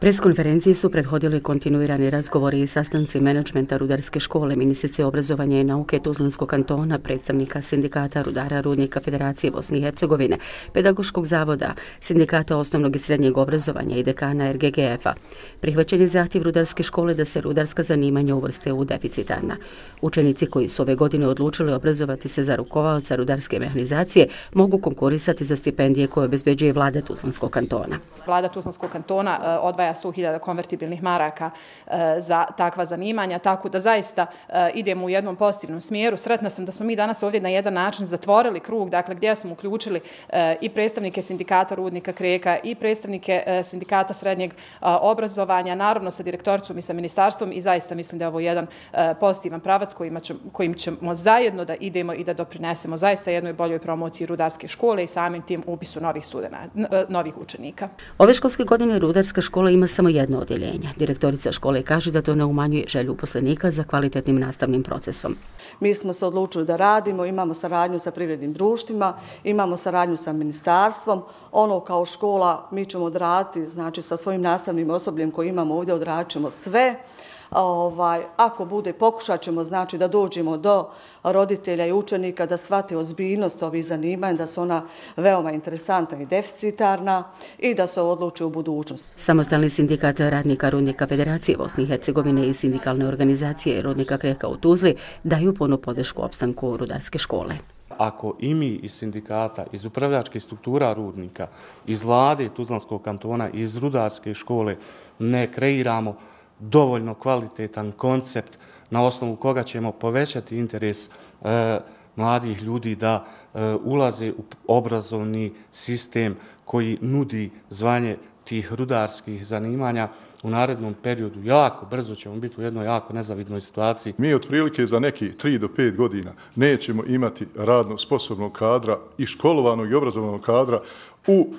Preskonferenciji su prethodili kontinuirani razgovori i sastanci menadžmenta rudarske škole, ministrice obrazovanja i nauke Tuzlanskog kantona, predstavnika sindikata rudara Rudnika Federacije Bosne i Hercegovine, Pedagoškog zavoda, sindikata osnovnog i srednjeg obrazovanja i dekana RGGF-a. Prihvaćen je zahtjev rudarske škole da se rudarska zanimanja uvrste u deficitarna. Učenici koji su ove godine odlučili obrazovati se za rukovaoca rudarske mehanizacije mogu konkurisati za stipendije koje obezbeđuje vlada Tuzlanskog kantona. Vlada Tuzlanskog kantona odvaja 100.000 konvertibilnih maraka za takva zanimanja, tako da zaista idemo u jednom pozitivnom smjeru. Sretna sam da smo mi danas ovdje na jedan način zatvorili krug, dakle gdje smo uključili i predstavnike sindikata Rudnika Kreka i predstavnike sindikata srednjeg obrazovanja, naravno sa direktoricom i sa ministarstvom, i zaista mislim da je ovo jedan pozitivan pravac kojim ćemo zajedno da idemo i da doprinesemo zaista jednoj boljoj promociji rudarske škole i samim tim upisu novih učenika. Ove školske godine rudarska škola ima samo jedno odjeljenje. Direktorica škole kaže da to ne umanjuje želju uposlenika za kvalitetnim nastavnim procesom. Mi smo se odlučili da radimo, imamo saradnju sa privrednim društvima, imamo saradnju sa ministarstvom. Ono kao škola mi ćemo odraditi, znači sa svojim nastavnim osobljem koji imamo ovdje odradit ćemo sve. Ako bude, pokušat ćemo znači da dođemo do roditelja i učenika da shvate ozbiljnost ovih zanimanja, da su ona veoma interesantna i deficitarna i da se odluče u budućnosti. Samostalni sindikat radnika Rudnika Federacije Bosne i Hercegovine i sindikalne organizacije Rudnika Kreka u Tuzli daju punu podršku opstanku rudarske škole. Ako i mi iz sindikata, iz upravljačkih struktura rudnika, iz vlade Tuzlanskog kantona i iz rudarske škole ne kreiramo dovoljno kvalitetan koncept na osnovu koga ćemo povećati interes mladih ljudi da ulaze u obrazovni sistem koji nudi zvanje tih rudarskih zanimanja, u narednom periodu jako brzo ćemo biti u jednoj jako nezavidnoj situaciji. Mi otprilike za neki 3 do 5 godina nećemo imati radno sposobnog kadra i školovanog i obrazovanog kadra u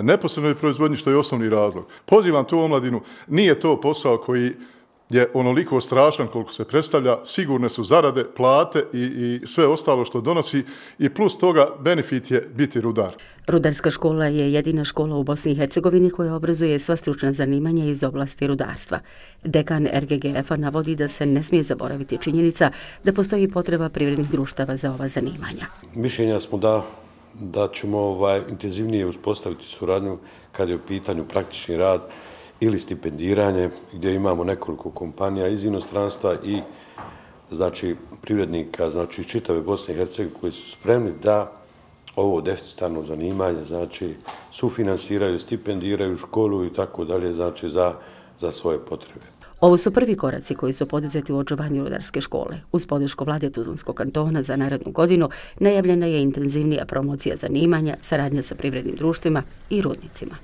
neposrednoj proizvodnji, što je osnovni razlog. Pozivam tu omladinu, nije to posao koji je onoliko strašan koliko se predstavlja, sigurne su zarade, plate i sve ostalo što donosi i plus toga benefit je biti rudar. Rudarska škola je jedina škola u Bosni i Hercegovini koja obrazuje sva stručna zanimanja iz oblasti rudarstva. Dekan RGGF-a navodi da se ne smije zaboraviti činjenica da postoji potreba privrednih društava za ova zanimanja. Mišljenja smo da ćemo intenzivnije uspostaviti suradnju kad je u pitanju praktični rad ili stipendiranje, gdje imamo nekoliko kompanija iz inostranstva i znači privrednika iz čitave Bosne i Hercegovine koji su spremni da ovo deficitarno zanimanje znači sufinansiraju, stipendiraju školu i tako dalje, znači za svoje potrebe. Ovo su prvi koraci koji su poduzeti u očuvanju rudarske škole. Uz podršku vlade Tuzlanskog kantona za narednu godinu najavljena je intenzivnija promocija zanimanja, saradnja sa privrednim društvima i rudnicima.